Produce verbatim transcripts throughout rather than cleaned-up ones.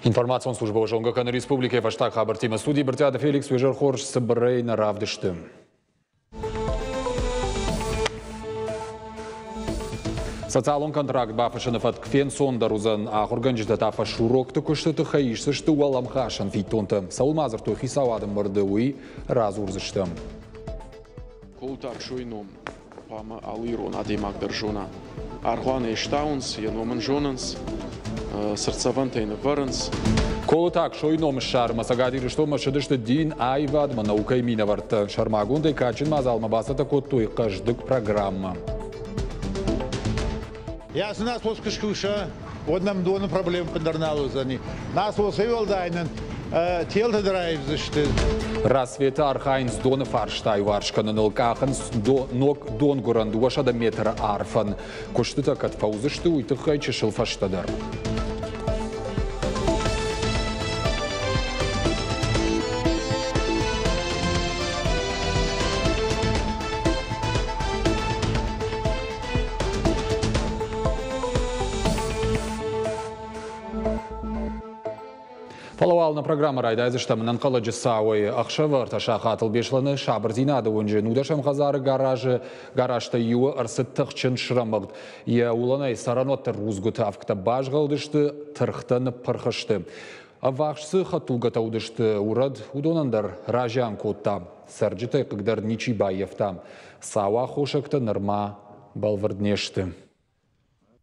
Информацион служба зонгӕ кӕны республикӕйы фӕстаг хабӕрттимӕ. Студийы Брытъиаты Феликс, уе зӕр хорз, цыбырӕй нӕ равдысты. Социалон контракт бафыссыны фӕтк фенцондӕр уыдзӕн. Ахуыргӕнджытӕ та фӕсурокты куысты тыххӕй исдзысты уӕлӕмхасӕн фиддонтӕ. Цӕуыл ма дзырдтой хицауады ӕмбырды, уый радзурдзыстӕм. Колыты Аксойы ном хъуамӕ алы ирон адӕймаг дӕр зона. Аргъуанӕй стауынц, йӕ ном ын зонынц, цыртдзӕвӕнтӕй нывӕрынц. Колыты Аксойы ном ссарынмӕ Цӕгат Ирыстонмӕ ссыдысты дин, аивадмӕ, наукӕйы минӕвӕрттӕ. Сӕрмагондӕй кадджын мадзалмӕ бацӕттӕ кодтой хъӕздыг программӕ. Ясы насос куы скуса, уӕд нӕм доны проблем ӕппындӕр нал уыдзӕни. Насосӕй уӕлдай нын телты дӕр аивдзысты. Рассветы архайынц доны фарста иуварс кӕныныл, къахынц ног донгуырӕн дыууӕсӕдӕ метры арфӕн. Куыстытӕ кӕд фӕуыдзысты, уый тыххӕй чысыл фӕстӕдӕр. Фӕлӕ уал нӕ программӕ райдайдзыстӕм ӕнӕнхъӕлӕджы цауӕй. Ӕхсӕвы ӕртӕ сахатыл Беслӕны сабырдзинады уынджы нудӕсӕм хӕдзары гаражы гаражтӕй иуы ӕрцыд тыхджын срӕмыгъд. Йӕ уылӕнӕй цӕрӕнуӕтты рудзгуыты ӕвгтӕ базгъӕлдысты, тыргътӕ ныппырх сты. Ӕввахс цы хӕдтулгӕтӕ уыдысты урӕд, уыдонӕн дӕр разиан кодта. Цӕрджытӕй хъыгдӕр ничи баййӕфта. Цауы аххосӕгтӕ нырма бӕлвырд не сты.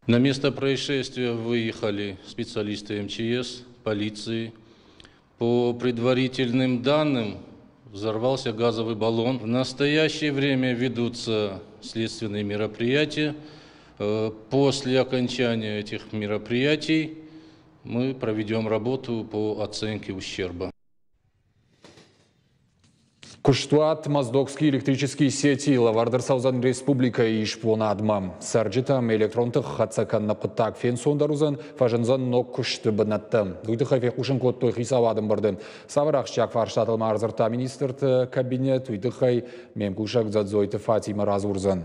На место происшествия выехали специалисты эм че эс, полиции. По предварительным данным, взорвался газовый баллон. В настоящее время ведутся следственные мероприятия. Э, После окончания этих мероприятий мы проведем работу по оценке ущерба. Куыстуат Моздокские электрические сети лӕвӕрд ӕрцӕудзӕн республикӕйы исбонадмӕ. Цӕрджытӕм электрон тых хӕццӕ кӕныны хъуыддаг фенцондӕр уыдзӕн, фӕзындзӕн ног куысты бынӕттӕ. Уый тыххӕй фехъусын кодтой хицауады ӕмбырды. Цавӕр ахсджиаг фарстатыл ма ӕрдзырдта министрты кабинет, уый тыххӕй ме мкусӕг Дзӕдзойты Фатимӕ радзурдзӕн.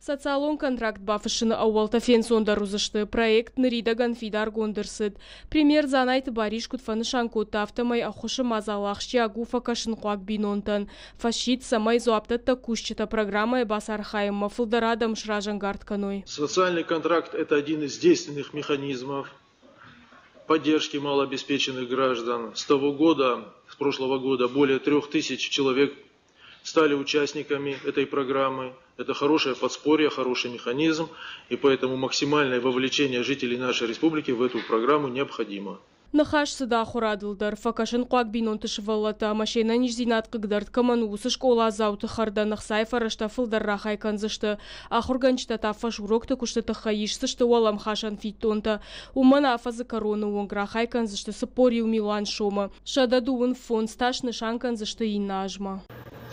Социалон контракт бафыссыны ӕууӕлтӕ фенцондӕр уыдзысты. Проект ныридӕгӕн фидаргонд ӕрцыд. Премьер Дзанайты Барис куыд фӕнысан кодта, афтӕмӕй ӕххуысы мадзал ахсджиаг у фӕкӕсынхъуаг бинонтӕн. Фӕсидт, цӕмӕй дзуапдӕттӕг кусджытӕ программӕйы бацархайынмӕ фылдӕр адӕм сразӕнгард кӕной. Социальный контракт – это один из действенных механизмов поддержки малообеспеченных граждан. С того года, с прошлого года, более трех тысяч человек стали участниками этой программы. Это хорошее подспорье, хороший механизм, и поэтому максимальное вовлечение жителей нашей республики в эту программу необходимо. Ныхас цыд ахуырадыл дӕр. Фӕкӕсынхъуаг бинонты сывӕллӕттӕ ӕмӕ се нӕниздзинад хъыгдард кӕмӕн у, уыцы скъоладзауты хӕрдӕн ӕхцайы фӕрӕзтӕ фылдӕр рахай кӕндзысты. Ахуыргӕнджытӕ та фӕсурокты куысты тыххӕй исдзысты уӕлӕмхасӕн фиддонтӕ. Уымӕн афӕдзы кӕроны онг рахай кӕндзысты цыппор иу милуан сомы. Сӕдӕ дыууын фондз та снысан кӕндзысты иннӕ азмӕ.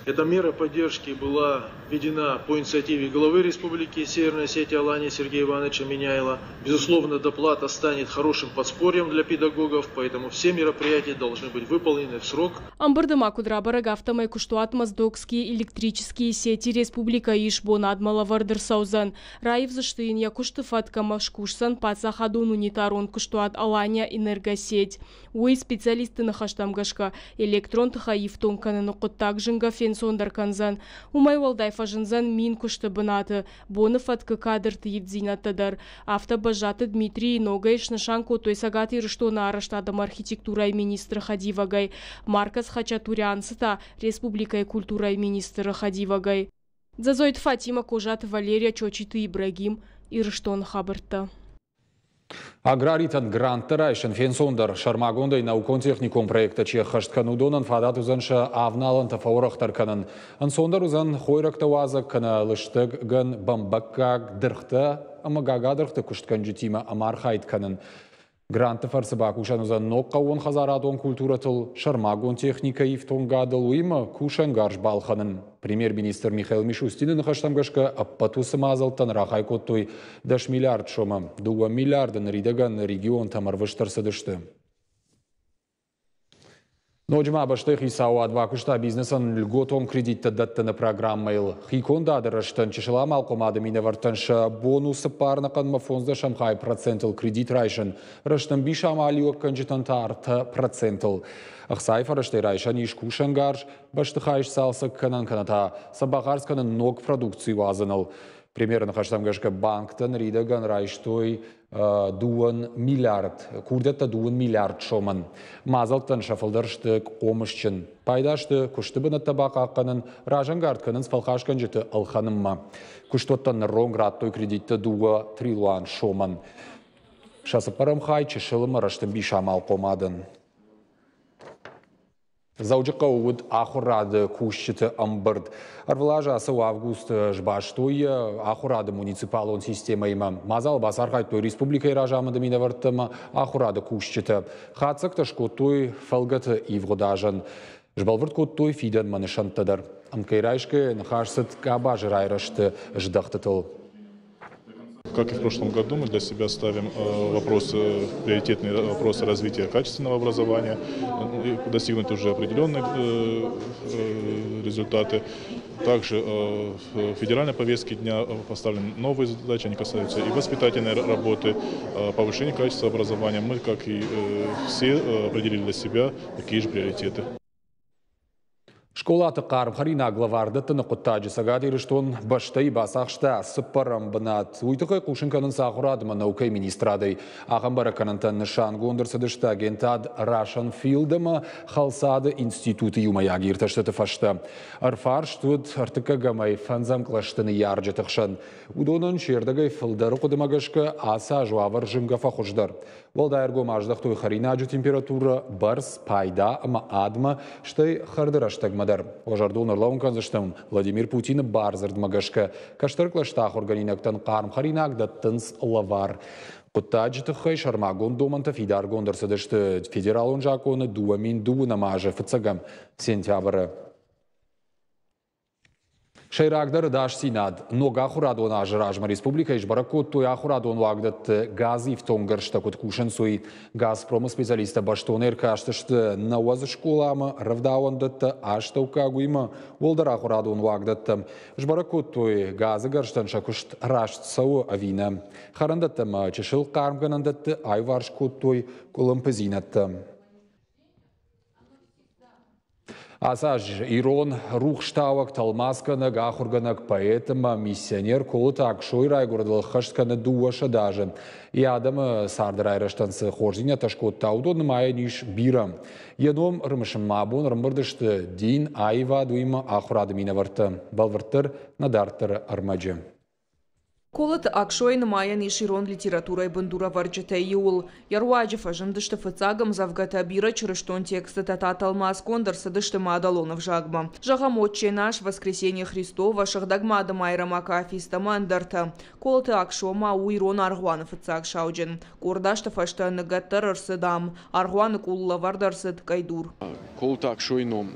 Эта мера поддержки была введена по инициативе главы Республики Северная Осетия Алания Сергея Ивановича Меняйло. Безусловно, доплата станет хорошим подспорьем для педагогов, поэтому все мероприятия должны быть выполнены в срок. Ӕмбырды ма куыд рабӕрӕг, афтӕмӕй куыстуат Моздокские электрические сети республикӕйы исбонадмӕ лӕвӕрд ӕрцӕудзӕн. Раивдзысты йын йӕ куысты фӕтк ӕмӕ скусдзӕн паддзахадон унитарон куыстуат Алания Энергосеть. Уый, специалистты ныхӕстӕм гӕсгӕ, электрон тыхӕй ифтонг кӕныны хъуыддаг зынгӕ фенцондӕр кӕндзӕн. Уымӕй уӕлдай фӕзындзӕн мин куысты бынаты. Боны фӕткы кадрты ивддзинӕдтӕ дӕр. Афтӕ Бӕззаты Дмитрийы ногӕй снысан кодтой Цӕгат Ирыстоны арӕзтад ӕмӕ архитектурӕйы министры хӕдивӕгӕй. Маркос Хачатурянцы та республикӕйы культурӕйы министры хӕдивӕгӕй. Дзӕдзойты Фатимӕ, Козаты Валерия, Чочиты Ибрагим. Ирыстоны хабӕрттӕ. Аграритӕн гранттӕ райсын фенцондӕр. Сӕрмагондӕй наукон-техникон проекттӕ чи ӕххӕст кӕны, уыдонӕн фадат уыдзӕн сӕ авналӕнтӕ фӕуӕрӕхдӕр кӕнын. Ӕнцондӕр уыдзӕн хойрӕгтӕ уадзӕг кӕнӕ лыстӕг гӕн, бӕмбӕггаг, дыргътӕ ӕмӕ гагадыргъты куыстгӕнджытимӕ ӕмархайд кӕнын. Грантты фӕрцы бакусӕн уыдзӕн ног хъӕууонхӕдзарадон культурӕтыл, сӕрмагонд техникӕйы ифтонгадыл, уыимӕ кусӕнгарз балхӕнын. Премьер-министр Михаил Мишустины ныхӕстӕм гӕсгӕ, ӕппӕт уыцы мадзӕлттӕн рахай кодтой дӕс миллиард сомы. Дыууӕ миллиарды ныридӕгӕн регионтӕм ӕрвыст ӕрцыдысты. Ноджы ма бӕстӕйы хицауад бакуыста бизнесӕн льготон кредиттӕ дӕттыны программӕйыл. Хикондады рӕзтӕн чысыл амалхъомады минӕвӕрттӕн сӕ бон у цыппар ӕнӕхъӕнмӕ фондздӕсӕм хай процентыл кредит райсын, рӕстӕмбис амалиуӕггӕнджытӕн та ӕртӕ процентыл. Ӕхцайы фӕрӕзтӕй райсӕн ис кусӕнгарз, бӕстыхай сцалцӕг кӕнӕн кӕнӕ та сӕ бахардз кӕнын ног продукци уадзыныл. Премьеры ныхӕстӕм гӕсгӕ банктӕ ныридӕгӕн райстой дыууын миллиард, курдиӕттӕ дыууын миллиард сомӕн. Мадзӕлттӕн сӕ фылдӕр сты хъомысджын. Пайда сты куысты бынӕттӕ бахъахъхъӕнын, разӕнгард кӕнынц фӕлхасгӕнджыты ӕлхӕнынмӕ. Куыстуӕттӕн ныронг радтой кредиттӕ дыууӕ триллион сомӕн. Сӕ цыппӕрӕм хай чысыл ӕмӕ рӕстӕмбис амалхъомадӕн. Дзӕуджыхъӕуы уыд ахуырады кусджыты ӕмбырд. Ӕрвылаз ацы августы сбастой ахуырады муниципалон системӕимӕ. Мадзалы бацархайдтой республикӕйы разамынды минӕвӕрттӕ ӕмӕ ахуырады кусджытӕ. Хатдзӕгтӕ скодтой фӕлгӕты ивгъуыд азӕн. Сбӕлвырд кодтой фидӕнмӕ нысӕнттӕ дӕр. Ӕмткӕй райсгӕ ныхас цыд къабазы райрӕзты здӕхтытыл. Как и в прошлом году, мы для себя ставим вопросы, приоритетные вопросы развития качественного образования, достигнуть уже определенные результаты. Также в федеральной повестке дня поставлены новые задачи, они касаются и воспитательной работы, повышения качества образования. Мы, как и все, определили для себя такие же приоритеты. Скъолаты хъарм хӕринаг лӕвар дӕттыны хъуыддаджы Цӕгат Ирыстон бӕстӕйы бацахста цыппӕрӕм бынат. Уый тыххӕй хъусын кӕнынц ахуырад ӕмӕ наукӕйы министрадӕй. Ахӕм бӕрӕггӕнӕнтӕ нысангонд ӕрцыдысты агентад Russian Field ӕмӕ Хӕлцады институты иумӕйаг иртӕстыты фӕстӕ. Ӕрфарст уыд ӕртыккӕгӕмӕй фӕндзӕм кълӕсты ныййарджыты хсӕн. Уыдонӕн се рдӕгӕй фылдӕры хъуыдымӕ гӕсгӕ ацы аз уавӕр зынгӕ фӕхуыздӕр. Уӕлдай ӕргом аздӕхтой хӕринаджы температурӕ, бӕрц, пайда ӕмӕ адмӕ, стӕй хӕрды рӕстӕгмӕ дӕр. Уӕ зӕрдыл ӕрлӕууын кӕндзыстӕм Владимир Путины бардзырдмӕ гӕсгӕ кӕстӕр кълӕсты ахуыргӕнинӕгтӕн хъарм хӕринаг дӕттынц лӕвар. Хъуыддаджы тыххӕй сӕрмагонд домӕнтӕ фидаргонд ӕрцыдысты федералон закъоны дыууӕ мин дыууынӕм азы фыццӕгӕм сентябры. Сӕйрагдӕр ӕдасдзинад. Ног ахуырадон азы размӕ республикӕйы сбӕрӕг кодтой ахуырадон уагдӕтты газифтонггӕрзтӕ куыд кусынц, уый. Газпромы специалисттӕ бӕстон ӕркастысты нӕуӕдз скъоламӕ, рӕвдауӕндӕттӕ, астӕуккаг уыимӕ уӕлдӕр ахуырадон уагдӕттӕм. Сбӕрӕг кодтой, газы гӕрзтӕн сӕ куыст раст цӕуы ӕви нӕ. Хӕрӕндӕттӕ ӕмӕ чысыл хъармгӕнӕндӕтты аиуварс кодтой къуылымпыдзинӕдтӕ. Ацы аз ирон рухстауӕг, тӕлмацгӕнӕг, ахуыргӕнӕг, поэт ӕмӕ миссионер Колыты Аксойы райгуырдыл ӕххӕст кӕны дыууӕ сӕдӕ азы. Йӕ адӕмы царды райрӕзтӕн цы хорздзинӕдтӕ скодта, уыдон нымайӕн ис бирӕ. Йӕ ном ӕрымысынмӕ абон ӕрӕмбырд сты дин, аивад, уыимӕ ахуырады минӕвӕрттӕ. Бӕлвырддӕр нӕ дарддӕры ӕрмӕджы. Колыты Аксойы нымайӕн ис ирон литературӕйы бындурӕвӕрджытӕй иуыл. Йӕ руаджы фӕзындысты фыццаг ӕмдзӕвгӕтӕ, бирӕ чырыстон текстытӕ та тӕлмацгонд ӕрцыдысты мадӕлон ӕвзагмӕ. Зӕгъӕм, «Отче наш», «Воскресенье Христово», «Сыгъдӕг Мады Майрӕмы акафист» ӕмӕ ӕндӕртӕ. Колыты Аксо ма у ирон аргъуаны фыццаг сауджын. Къорд азты фӕстӕ ныгӕд дӕр ӕрцыд ам. Аргъуаны къулыл ӕвӕрд ӕрцыд къӕйдур. Колыты Аксойы ном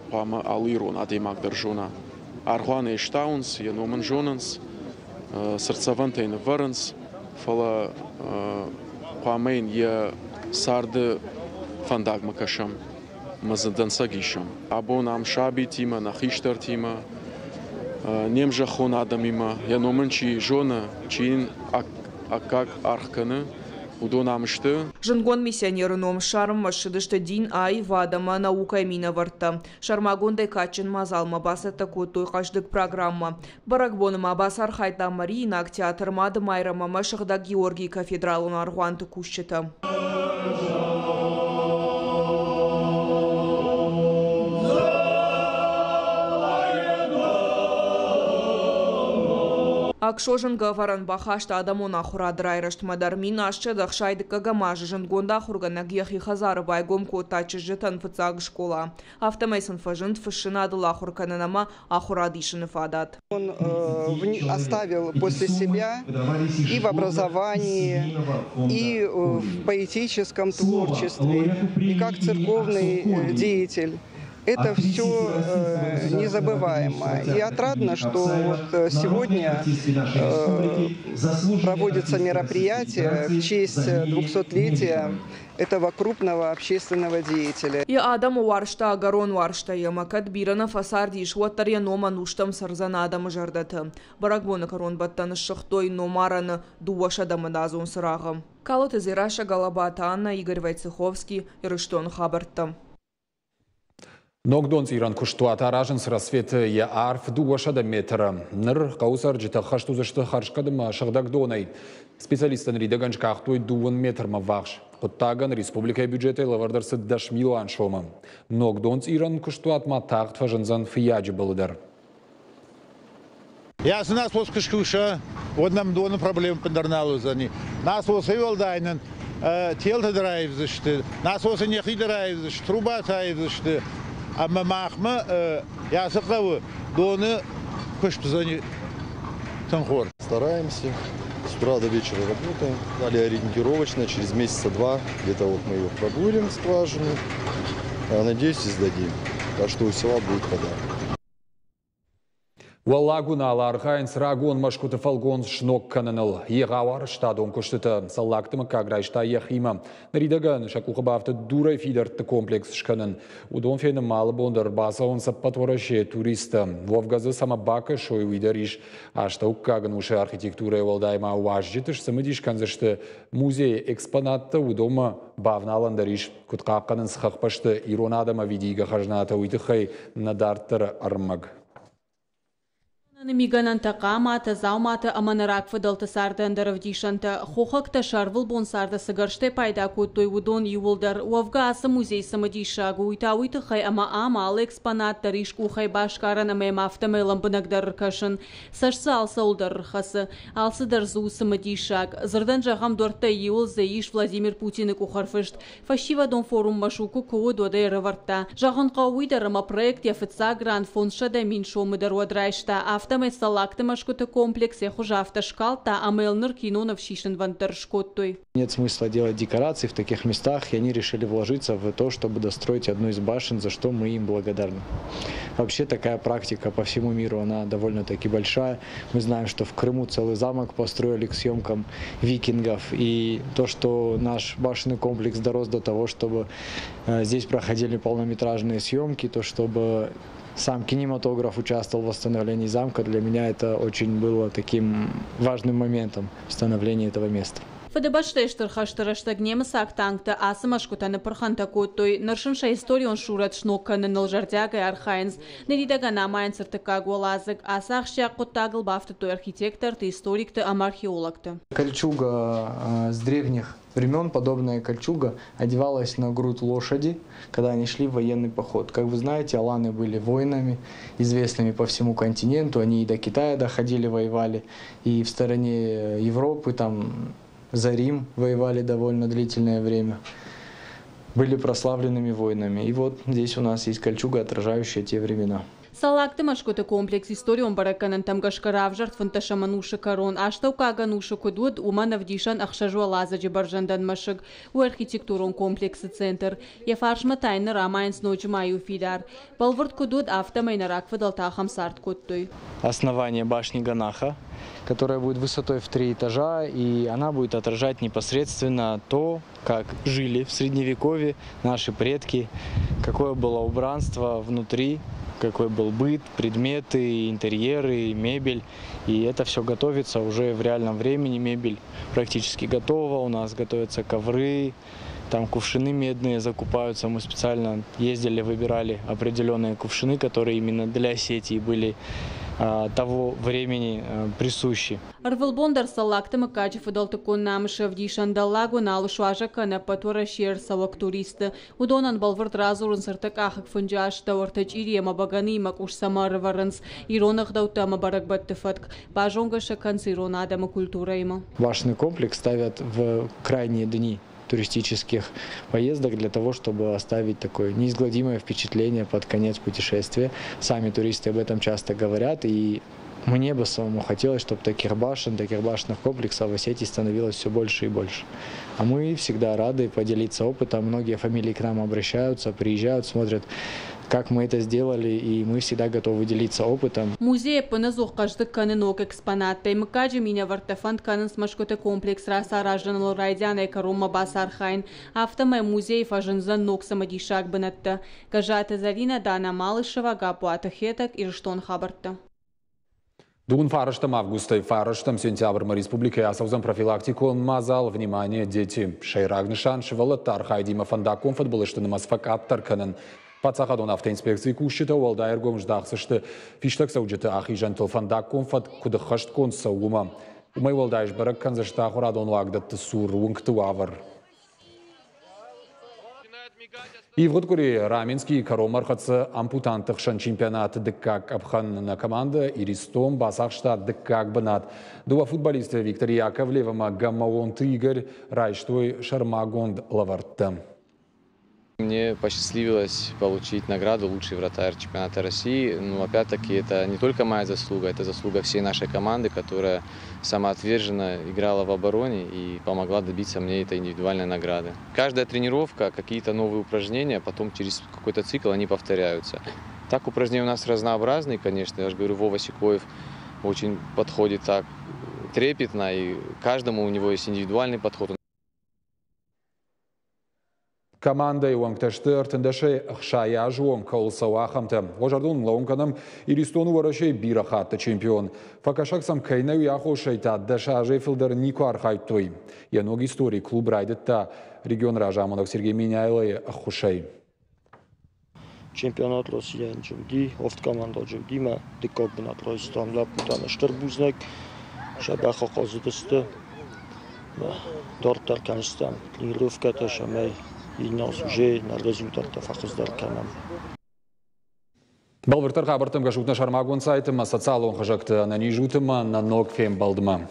хъуамӕ алы ирон адӕймаг дӕр зона. Аргъуанӕй стауынц, йӕ ном ын зонынц, цыртдзӕвӕнтӕй нывӕрынц, фӕлӕ хъуамӕ йын йӕ царды фӕндагмӕ кӕсӕм ӕмӕ дзы дӕнцӕг исӕм. Абон ам сабитимӕ, нӕ хистӕртимӕ, не мзӕххон адӕмимӕ, йӕ ном ын чи зоны, чи йын аккаг аргъ кӕны, уыдон ам сты. Зындгонд миссионеры ном ссарынмӕ ссыдысты дин, аивад ӕмӕ наукӕйы минӕвӕрттӕ. Сӕрмагондӕй кадджын мадзалмӕ бацӕттӕ кодтой хъӕздыг программӕ. Бӕрӕгбоны ма бацархайдта Мариинаг театр, Мады Майрӕм ӕмӕ Сыгъдӕг Георгийы кафедралон аргъуанты кусджытӕ. Аксо зынгӕ ӕвӕрӕн бахаста адӕмон ахуырады райрӕзтмӕ дӕр. Мин астсӕдӕ ӕхсай дыккӕгӕм азы зындгонд ахуыргӕнӕг йӕхи хӕдзары байгом кодта чызджытӕн фыццаг скъола. Афтӕмӕй сын фӕзынд фыссынадыл ахуыр кӕнын ӕмӕ ахуырад исыны фадат. Он э, оставил после себя и в образовании, и в поэтическом творчестве, и как церковный деятель. Это все незабываемо. И отрадно, что вот сегодня проводится мероприятие в честь двухсотлетия этого крупного общественного деятеля. Йӕ адӕмы уарзта ӕгӕрон уарзтӕй ӕмӕ кӕд бирӕ нӕ фӕцардис, уӕддӕр йӕ ном ӕнустӕм цӕрдзӕн адӕмы зӕрдӕты. Бӕрӕгбоны кӕронбӕттӕны ссыгътой номарӕны дыууӕсӕдӕмӕдазон цырагъы. Калоты Дзерассӕ, Галабаты Анна, Игорь Войцеховский, Ирыстоны хабӕрттӕ. Ног донцъирӕн куыстуат аразынц Рассветы, йӕ арф дыууӕсӕдӕ метры. Ныр хъӕуы цӕрджытӕ хӕст уыдзысты хӕрзхъӕд ӕмӕ сыгъдӕг донӕй. Специалисттӕ ныридӕгӕн скъахтой дыууын метрмӕ ввахс. Хъуыддагӕн республикӕйы бюджетӕй лӕвӕрд ӕрцыд дӕс милуан сомы. Ног донцъирӕн куыстуат ма тагъд фӕзындзӕн Фыййаджыбылы дӕр. Ацы насос куы скуса, уӕд нӕм доны проблемӕ ӕппындӕр нал уыдзӕни. Насосӕй уӕлдай нын телтӕ дӕр аивдзысты, насосы нӕхи дӕр аивдзысты, трубатӕ аивдзысты. Ӕмӕ махмӕ ацы хъӕуы доны куыст уыдзӕни тынг хорз. Стараемся. С утра до вечера работаем. Далее ориентировочно, через месяца два, где-то вот мы ее пробурим, скважину. Надеюсь, и сдадим. Так что у села будет вода. Уӕллаг Уыналы архайынц рагон мӕсгуыты фӕлгонц сног кӕныныл. Егъау арӕзтадон куыстытӕ Цӕллагты мыггаг райста йӕхимӕ. Ныридӕгӕн сӕ къухы бафтыд дурӕй фидӕртты комплекс скӕнын. Уыдон фенынмӕ алы бон дӕр бацӕуынц ӕппӕт Уӕрӕсейы туристтӕ. Уӕвгӕ дзы цӕмӕ бакӕсой, уый дӕр ис. Астӕуккаг ӕнусы архитектурӕйы уӕлдай ма уазджыты сцымыдис кӕндзысты музейы экспонаттӕ, уыдонмӕ бавналӕн дӕр ис. Куыд хъахъхъӕнынц хӕхбӕсты ирон адӕм ӕвидийгӕ хӕзнатӕ, уый тыххӕй нӕ дарддӕры ӕрмӕг. Мигӕнӕнтӕ, хъаматӕ, дзауматӕ ӕмӕ нӕ рагфыдӕлты царды ӕндӕр ӕвдисӕнтӕ. Хохӕгтӕ сӕ ӕрвылбон царды цы гӕрзтӕй пайда кодтой, уыдон иууылдӕр. Уӕвгӕ ацы музей цымыдисаг у, уый та уый тыххӕй, ӕмӕ ам алы экспонат дӕр ис къухӕй басгарӕн ӕмӕ йӕм афтӕмӕй лӕмбынӕгдӕр ӕркӕсын. Цӕст дзы алцӕуыл дӕр ӕрхӕцы. Алцыдӕр дзы у цымыдисаг. Дзырдӕн зӕгъӕм, дуӕрттӕй иуыл дзы ис Владимир Путины къухӕрфыст. Фӕсивӕдон форум Машукы куы уыд, уӕд ӕй ӕрӕвӕрдта. Зӕгъын хъӕуы уый дӕр, ӕмӕ проект йӕ фыццаг грант фондзсӕдӕ мин сомы дӕр уӕд райста. Афтӕмӕй Цӕллагты мӕсгуыты комплекс йӕ хуыз афтӕ скалдта, ӕмӕ йыл ныр киноныв сисынвӕнд дӕр скодтой. Нет смысла делать декорации в таких местах, и они решили вложиться в то, чтобы достроить одну из башен, за что мы им благодарны. Вообще такая практика по всему миру, она довольно-таки большая. Мы знаем, что в Крыму целый замок построили к съемкам викингов, и то, что наш башенный комплекс дорос до того, чтобы здесь проходили полнометражные съемки, то, чтобы сам кинематограф участвовал в восстановлении замка, для меня это очень было таким важным моментом становления этого места. Фыдыбӕстӕйы Стыр хӕсты рӕстӕг немыцаг танктӕ ацы мӕсгуытӕ ныппырхӕнтӕ кодтой. Ныр сын сӕ историон сурӕт сног кӕныныл зӕрдиагӕй архайынц. Ныридӕгӕн амайынц ӕртыккаг уӕладзыг. Ацы ахсджиаг хъуыддагыл бафтыдтой архитекторты, историкты ӕмӕ археологты. Кольчуга с древних времен, подобная кольчуга одевалась на грудь лошади, когда они шли в военный поход. Как вы знаете, аланы были воинами, известными по всему континенту. Они и до Китая доходили, воевали, и в стороне Европы, там за Рим воевали довольно длительное время, были прославленными воинами. И вот здесь у нас есть кольчуга, отражающая те времена. Цӕллагты мӕсгуыты комплекс историон бӕрӕггӕнӕнтӕм гӕсгӕ равзӕрд фынддӕсӕм ӕнусы кӕрон. Астӕуккаг ӕнусы куыд уыд, уымӕн ӕвдисӕн ӕхсӕз уӕладзыджы бӕрзӕндӕн мӕсыг. У архитектурон комплексы центр. Йӕ фарсмӕ та йын ныр амайынц ноджы ма иу фидар. Бӕлвырд куыд уыд, афтӕмӕй нӕ рагфыдӕлтӕ ахӕм цард кодтой. Основание башни Ганаха, которая будет высотой в три этажа, и она будет отражать непосредственно то, как жили в Средневековье наши предки, какое было убранство внутри, какой был быт, предметы, интерьеры, мебель. И это все готовится уже в реальном времени. Мебель практически готова, у нас готовятся ковры, там кувшины медные закупаются. Мы специально ездили, выбирали определенные кувшины, которые именно для Осетии были того времени присущи. Ӕрвылбон дӕр Цӕллагты мыггаджы фыдӕлтыккон намысы ӕвдисӕн Дӕллаг Уыналы суазӕг кӕны ӕппӕт Уӕрӕсейӕ ӕрцӕуӕг туристты. Уыдонӕн бӕлвырд радзурынц ӕртӕкъахыг фынджы астӕу ӕртӕ чъири ӕмӕ бӕгӕныимӕ къус цӕмӕ ӕрӕвӕрынц, ирон ӕгъдӕуттӕ ӕмӕ бӕрӕгбӕтты фӕтк. Базонгӕ сӕ кӕнынц ирон адӕмы культурӕимӕ. Башенный комплекс ставят в крайние дни туристических поездок для того, чтобы оставить такое неизгладимое впечатление под конец путешествия. Сами туристы об этом часто говорят, и Мне бы самому хотелось, чтобы таких башен, таких башенных комплексов в Осетии становилось все больше и больше. А мы всегда рады поделиться опытом. Многие фамилии к нам обращаются, приезжают, смотрят, как мы это сделали, и мы всегда готовы делиться опытом. Музей ӕппынӕдзух хъӕздыг кӕны ног экспонаттӕй. Мыггаджы минӕвӕрттӕ фӕнд кӕнынц мӕсгуыты комплекс рацаразыныл райдианӕй кӕронмӕ бацархайын. Афтӕмӕй музейы фӕзындзӕн ног цымыдисаг бынӕттӕ. Гӕззаты Зӕринӕ, Дана Малышева, Гаппуаты Хетӕг, Ирыстоны хабӕрттӕ. Дыууын фарӕстӕм августӕй фарӕстӕм сентябрмӕ республикӕйы ацӕудзӕн профилактикон мадзал «Внимание, дети». Сӕйраг нысан сывӕллӕтты архайдимӕ фӕндаггон фыдбылызты нымӕц фӕкъаддӕр кӕнын. Паддзахадон автоинспекцийы кусджытӕ уӕлдай ӕргом здахдзысты фистӕгцӕуджыты ахизӕнтыл фӕндаггон фӕтк куыд ӕххӕстгонд цӕуы, уымӕ. Уымӕй уӕлдай сбӕрӕг кӕндзысты ахуырадон уагдӕтты цур уынгты уавӕр. Ивгъуыд къуыри Раменскийы кӕронмӕ ӕрхӕццӕ ампутантты хсӕн чемпионаты дыккаг къӕпхӕн. Нӕ командӕ «Иристон» бацахста дыккаг бынат. Дыууӕ футболисты Виктор Яковлев ӕмӕ Гамаонты Игорь райстой сӕрмагонд лӕвӕрттӕ. Мне посчастливилось получить награду «Лучший вратарь чемпионата России». Но опять-таки это не только моя заслуга, это заслуга всей нашей команды, которая самоотверженно играла в обороне и помогла добиться мне этой индивидуальной награды. Каждая тренировка, какие-то новые упражнения, потом через какой-то цикл они повторяются. Так упражнения у нас разнообразные, конечно. Я же говорю, Вова Сикоев очень подходит так трепетно, и каждому у него есть индивидуальный подход. Командӕйы уӕнгтӕ сты ӕртындӕсӕй ӕхсай азы онг кӕуыл цӕуы, ахӕмтӕ. Уӕ зӕрдыл лӕууын кӕнӕм, Иристон Уӕрӕсейы бирӕ хатты чемпион. Фӕкӕсӕг сӕм кӕй нӕ, уый аххосӕй та дӕс азӕй фылдӕр никуы архайдтой. Йӕ ног истори клуб райдыдта регионы разамонӕг Сергей Меняйлойы ӕххуысӕй. Чемпионат Российӕн чи уыди, авд командӕ уыди, мӕ дыккаг бынат райстам. Лӕппутӕн стыр бузныг, сӕ бӕхы хъазыдысты. Дарддӕр кӕндзыстӕм тренировкӕтӕ, цӕмӕй иннӕ аз уже нӕ результаттӕ фӕхуыздӕр кӕнӕм. Бӕлвырддӕр хабӕрттӕм кӕсут нӕ сӕрмагонд сайты ӕмӕ социалон хызӕгты. Ӕнӕниз ут ӕмӕ нӕ ног фембӕлдмӕ.